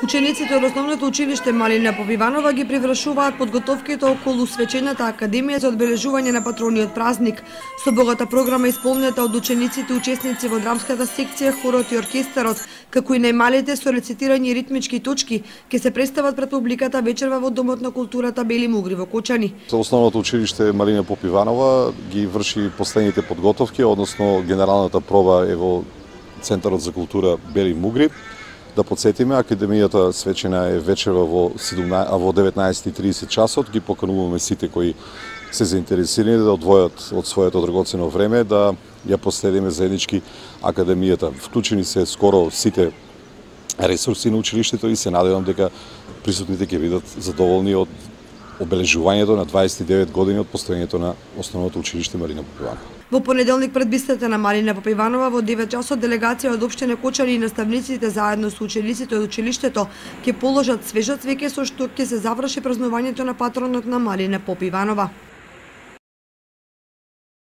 Учениците од основното училиште Малина Попиванова ги привршуваат подготовките околу свечената академија за одбележување на патрониот празник, со богата програма исполнета од учениците учесници во драмската секција, хорот и оркестарот, како и најмалите со рецитирање и ритмички точки, ќе се представат пред публиката вечерва во Домот на културата Бели Мугри во Кочани. Основното училиште Малина Попиванова ги врши последните подготовки, односно генералната проба е во Центарот за култура Бели Мугри. Да подсетиме, академијата свечена е вечерва во 19:30 часот. Ги покануваме сите кои се заинтересирани да одвојат од своето драгоцено време да ја последиме заеднички академијата. Вклучени се скоро сите ресурси на училиштето и се надевам дека присутните ќе бидат задоволни од обележувањето на 29 години од постоењето на основното училиште Малина Попиванова. Во понеделник пред бистата на Малина Попиванова во 9 часот делегација од општина Кочани и наставниците заедно со учениците од училиштето ќе положат свежа цвеќе со што ќе се заврши празнувањето на патронот на Малина Попиванова.